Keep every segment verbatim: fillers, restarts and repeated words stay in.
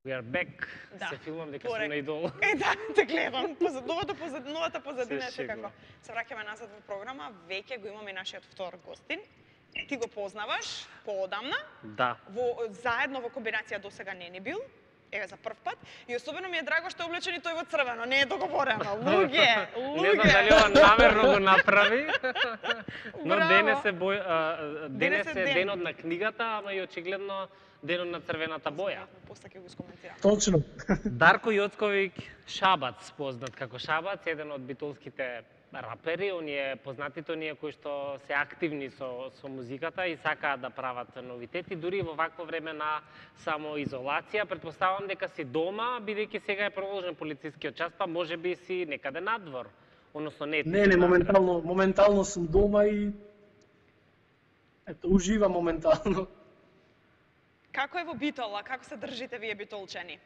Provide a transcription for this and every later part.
We are back. Да. Се филмам дека Порек. сум на Идол. Е, да, те гледам. Новата позад, новата позадина Се е шегувам. како. Се враќаме назад во програма. Веќе го имаме нашиот втор гостин. Ти го познаваш поодамна. Да. Во заедно во комбинација досега не ни бил. Еве за прв пат. И особено ми е драго што е облечен и тој во црвено. Не е договорено. Луѓе, луѓе. Не знам дали ова намерно го направи. Но Браво. денес е бој, а, денес Денес е е ден. денот на книгата, ама и очигледно денот на црвената боја. После ќе го искоментирам. Точно. Дарко Јоцковиќ Шабац, познат како Шабац, еден од битолските рапери, оние познатите оние кои што се активни со со музиката и сакаат да прават новитети, дури во вакво време на самоизолација. Претпоставам дека си дома, бидејќи сега е продолжен полицискиот час, па можеби си некаде надвор. Односно не. ти Не, си не, надвор. моментално, моментално сум дома и ето, уживам моментално. Како е во Битола? Како се држите вие битолчани?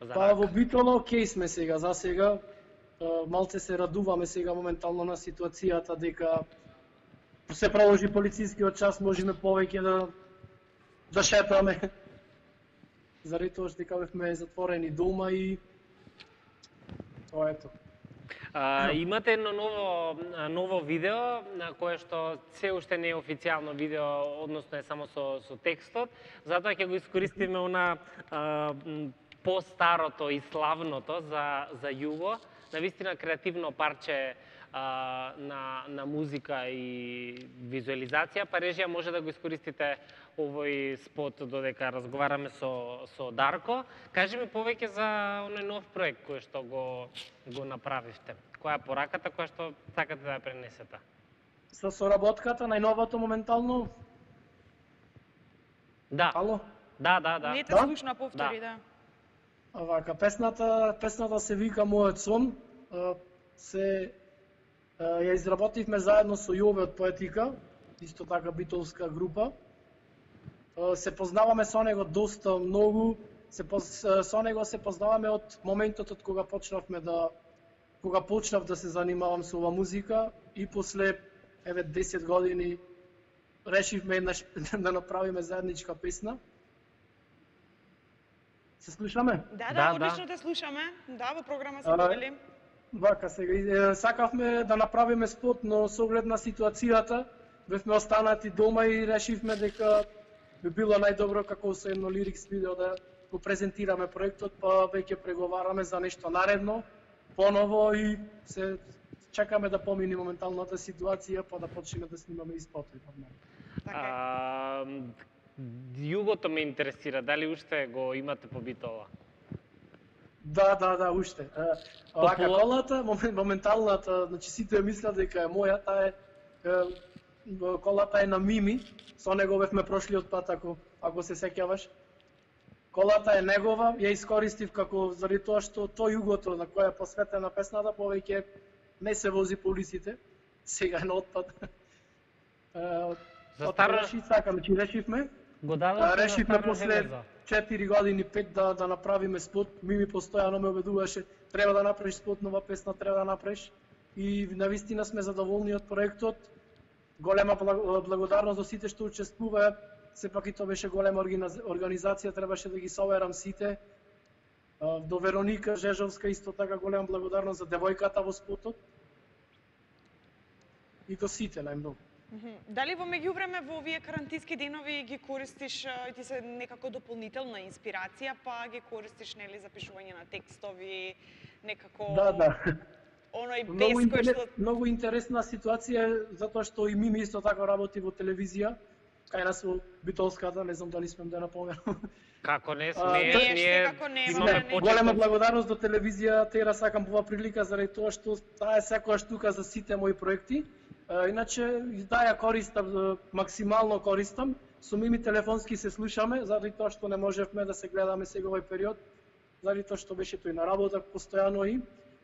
За Па рак. во Битола окей сме сега, за сега. Е, Малце се радуваме сега моментално на ситуацијата дека се проложи полицискиот час, можеме повеќе да да шетаме. Заради тоа што дека бевме затворени дома и тоа ето. А, имате едно ново ново видео на кое што се уште не е официјално видео, односно е само со со текстот, затоа ќе го искористиме она а, м, по-старото и славното за за Југо, навистина креативно парче а, на на музика и визуализација, па режија може да го искористите овој спот додека разговараме со со Дарко. Кажи ми повеќе за оној нов проект кој што го го направивте. Која е пораката која што сакате да ја пренесете? Со соработката најновото моментално. Да. Ало? Да, да, да. Не те Да? слушна, повтори, да. А Вака, песната, песната се вика Мојот сон. А, Се а, ја изработивме заедно со Јове од Поетика, исто така битолска група. А, Се познаваме со него доста многу. Се поз- со него се познаваме од моментот од кога почнавме да кога почнав да се занимавам со ова музика и после еве десет години решивме еднаш да направиме заедничка песна. Се слушаме? Да, да, Да, одлично да. те слушаме. Да, во програма се А, повели. Вака сега, е, сакавме да направиме спот, но со оглед на ситуацијата, бевме останати дома и решивме дека би било најдобро како со едно лирикс видео да го презентираме проектот, па веќе преговараме за нешто наредно, поново и се чекаме да помине моменталната ситуација, па да почнеме да снимаме и спотови. Така е. А, Југото ме интересира, дали уште го имате по Битола? Да, да, да, уште. Е, Вака Попула- колата, момен- моменталната, значи сите ја мислат дека е моја, таа е, е колата е на Мими, со него бевме прошлиот пат, ако, ако се сеќаваш. Колата е негова, ја искористив како заради тоа што тој југото на која е посветена песната повеќе не се вози по улиците, сега е на отпад. Е, За од старо- реши сакам, значи решивме, Го А, дадовте на решивме Старо после железо. четири години, пет да, да направиме спот. Мими постојано ме убедуваше, треба да направиш спот, нова песна треба да направиш. И навистина сме задоволни од проектот. Голема благ- благодарност до сите што учествуваа. Сепак и тоа беше голема организ- организација, требаше да ги соверам сите. А, До Вероника Жежовска исто така голема благодарност за девојката во спотот. И до сите најмногу. Мгм. Дали во меѓувреме во овие карантински денови ги користиш а, и ти се некако дополнителна инспирација, па ги користиш нели за пишување на текстови, некако Да, да. оној Многу, бес кој интерес, што многу интересна ситуација е затоа што и Мими исто така работи во телевизија, кај нас во Битолската, не знам дали смем да напоменам. Како не А, смееш, не, ние секако не, имаме не. почеток. Голема благодарност до телевизија, тера сакам по оваа прилика заради тоа што таа е секојаш тука за сите мои проекти. А, Иначе и да ја користам, а, максимално користам. Со Мими телефонски се слушаме, заради тоа што не можевме да се гледаме сега овој период, заради тоа што беше тој на работа постојано и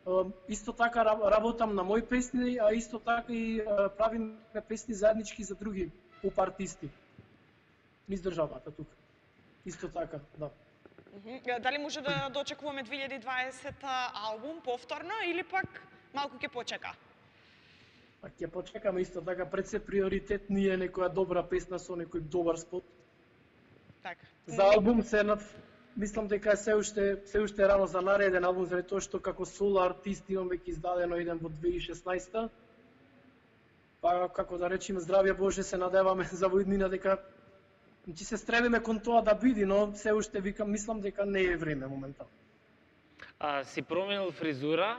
а, исто така раб- работам на мои песни, а исто така и а, правиме песни заеднички за други уп артисти. Низ државата тука. Исто така, да. Мгм. Дали може да дочекуваме две илјади и дваесета албум повторно или пак малку ќе почека? А ќе почекаме исто така, пред се приоритет ни е некоја добра песна со некој добар спот. Така. За албум се над мислам дека е се уште се уште е рано за нареден албум, заради тоа што како соло артист имам веќе издадено еден во две илјади и шеснаесета. Па како да речеме, здравје Боже, се надеваме за во иднина дека значи се стремиме кон тоа да биде, но се уште викам, мислам дека не е време моментално. А, си променил фризура?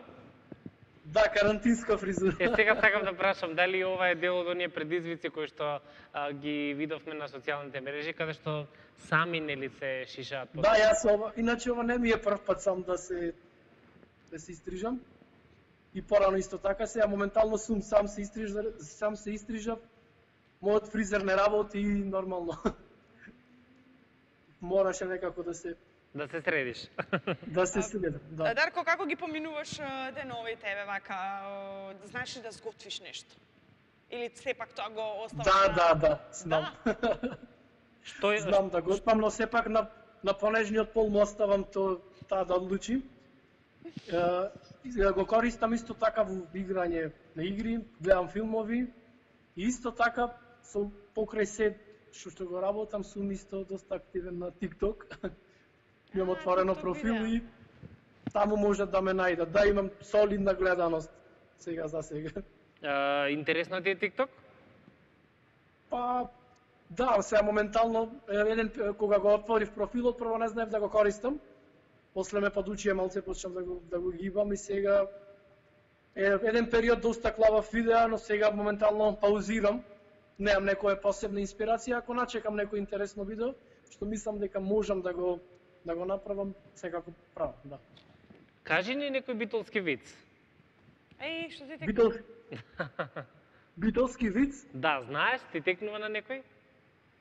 Да, карантинска фризура. Е, сега сакам да прашам, дали ова е дел од оние предизвици кои што а, ги видовме на социјалните мрежи, каде што сами нели се шишаат по Да, јас ова, иначе ова не ми е прв пат сам да се да се истрижам. И порано исто така, сега моментално сум сам се истрижав, сам се истрижав. Мојот фризер не работи и нормално. Мораше некако да се да се средиш. да се следам, да. Дарко, како ги поминуваш а, деновите, вака, а, знаеш ли да сготвиш нешто? Или сепак тоа го оставаш Да, на... да, да, знам. Што е Знам да го спам, но сепак на на понежниот пол му оставам то таа да одлучи. Е, го користам исто така во играње на игри, гледам филмови и исто така со покрај се што што го работам сум исто доста активен на TikTok. Имам отворено TikTok профил видео. и таму можат да ме најдат. Да, имам солидна гледаност сега за сега. а, интересно ти е TikTok? Па да, сега моментално еден кога го отворив профилот, прво не знаев да го користам. После ме подучија малце, почнав да го да го гибам и сега е еден период доста клавав видеа, но сега моментално паузирам. Немам некоја посебна инспирација, ако начекам некој интересно видео, што мислам дека можам да го да го направам, секако правам, да. Кажи ни некој битолски виц. Еј, што ти те... Битол... Битолски виц? Да, знаеш, ти текнува на некој?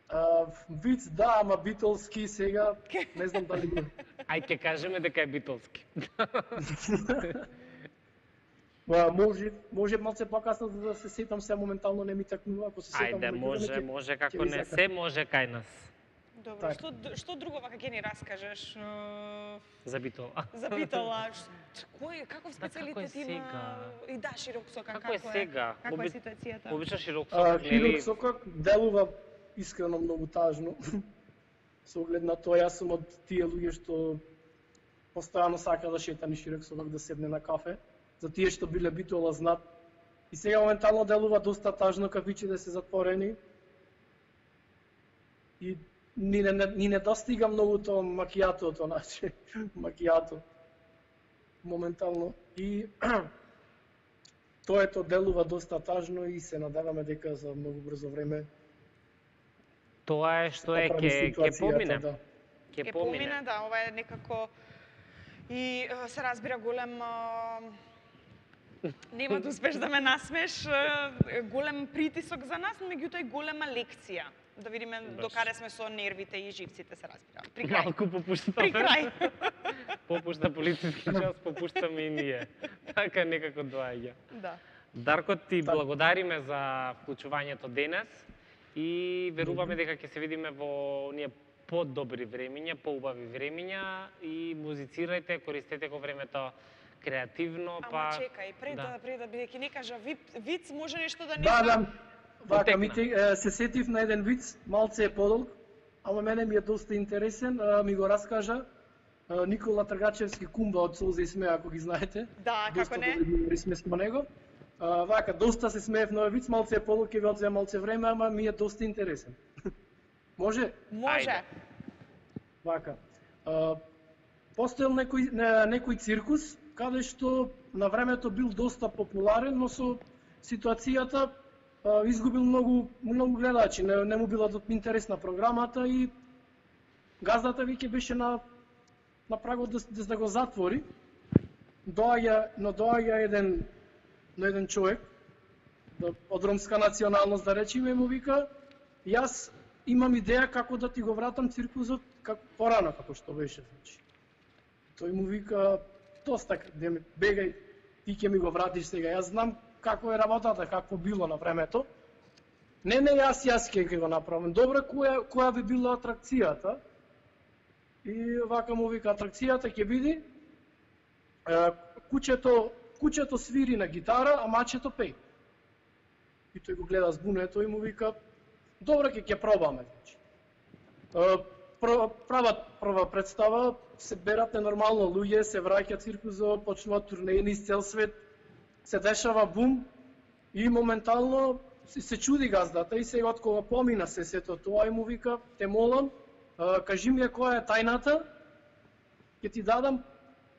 А, виц да, ама битолски сега не знам дали го. Ај ќе кажеме дека е битолски. Ба, може, може малце покасно за да се сетам, се моментално не ми такнува, ако се сетам. Ајде, во може, ќе- може, ќе како ви не сакам. се може кај нас. Добро, Така. што, што друго вака ќе ни раскажеш е, За битола. за Битола? Ш- Кој, каков Да, како е специјалитет има? сега? И да, широк сокак, Како е сега? Каква е Оби- ситуацијата? Обично широк А, сокак, Хирург нели? сокак делува искрено многу тажно. Со оглед на тоа, јас сум од тие луѓе што постојано сака да шета ни широк сокак да седне на кафе. За тие што биле Битола знат. И сега моментално делува доста тажно, кафичите се затворени. И ни не, ни не достига многу тоа макијатото, значи, макијато. Моментално. И тоа ето делува доста тажно и се надеваме дека за многу брзо време Тоа е што е, поправи ќе ќе ситуацијата, помине. да. Ќе Ќе помине. помине, да, ова е некако и е, се разбира голем е, нема да успеш да ме насмеш, е, голем притисок за нас, но меѓутоа и голема лекција. Да видиме Баш. докаде сме со нервите и живците, се разбира. При крај. Малку попушта. При крај. Попушта полициски час, попуштаме и ние. Така некако доаѓа. Да. Дарко, ти Така. благодариме за вклучувањето денес и веруваме дека ќе се видиме во оние подобри времиња, поубави времиња и музицирајте, користете го времето креативно, Ама па чекај, пред да, да. пред да бидејќи не кажа вип, виц, може нешто да не Да, знам. да. Вака, Потекна. ми те, е, се сетив на еден виц, малце е подолг, ама мене ми е доста интересен, а, ми го раскажа а, Никола Тргачевски, кумба од Солза и смеа, ако ги знаете. Да, Доста како не? добри юмори сме со него. А, вака, доста се смеев на овој виц, малце е подолг, ќе ви одзема малце време, ама ми е доста интересен. Може? Може. Ајде. Вака. А, постоел некој, не, некој циркус, каде што на времето бил доста популарен, но со ситуацијата а, изгубил многу, многу гледачи, не, не му била интересна програмата и газдата веќе беше на, на прагот да, да, да го затвори. Доаѓа, но доаѓа еден, но еден човек, да, од ромска националност да речеме, му вика, јас имам идеја како да ти го вратам циркузот како порано како што беше, значи. Тој му вика, доста, бегај, ти ќе ми го вратиш сега, јас знам како е работата, какво било на времето. Не, не, јас, јас ќе ќе го направам. Добро, која, која би била атракцијата? И вака му вика, атракцијата ќе биде, е, кучето, кучето свири на гитара, а мачето пее. И тој го гледа збунето и му вика, добро, ќе ќе пробаме. Значи. прва, прва, прва представа, се берат ненормално луѓе, се враќа циркузот, почнуваат турнеи низ цел свет, се дешава бум и моментално се, се чуди газдата и сега од кога помина се сето тоа и му вика, те молам, а, кажи ми која е тајната, ќе ти дадам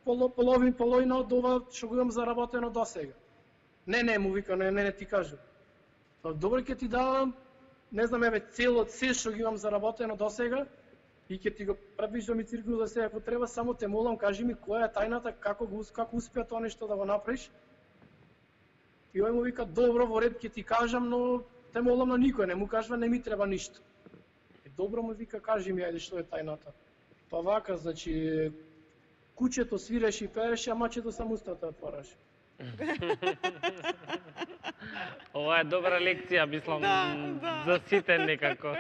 поло, половин половина од ова што го имам заработено досега. Не, не, му вика, не, не, не ти кажам. Добро, ќе ти дадам, не знам, еве, цело, се што ги имам заработено досега и ќе ти го предвиждам и циркус за се ако треба, само те молам, кажи ми која е тајната, како го како успеа тоа нешто да го направиш. И ој му вика, добро, во ред ќе ти кажам, но те молам на никој, не му кажва, не ми треба ништо. И добро му вика, кажи ми, ајде, што е тајната. Па вака, значи, кучето свиреше и пееше, а мачето само устата отвараше. Ова е добра лекција, мислам, Да, да. за сите некако.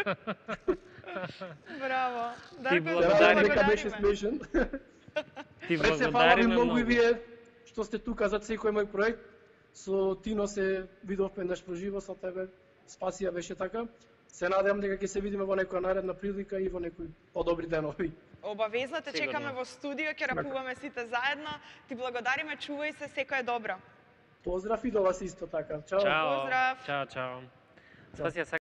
Браво. Ти Дарко, благодариме. Нека беше благодариме. смешен. Ти Пред се фала ви благодариме многу многу. и вие што сте тука за секој мој проект. Со Тино се видовме еднаш проживо со тебе. Спасија беше така. Се надевам дека ќе се видиме во некоја наредна прилика и во некои подобри денови. Обавезно те Сигурно. чекаме во студио, ќе рапуваме сите заедно. Ти благодариме, чувај се, секој е добро. Поздрав и до вас исто така. Чао. Чао. Поздрав. Чао, чао. Спасија.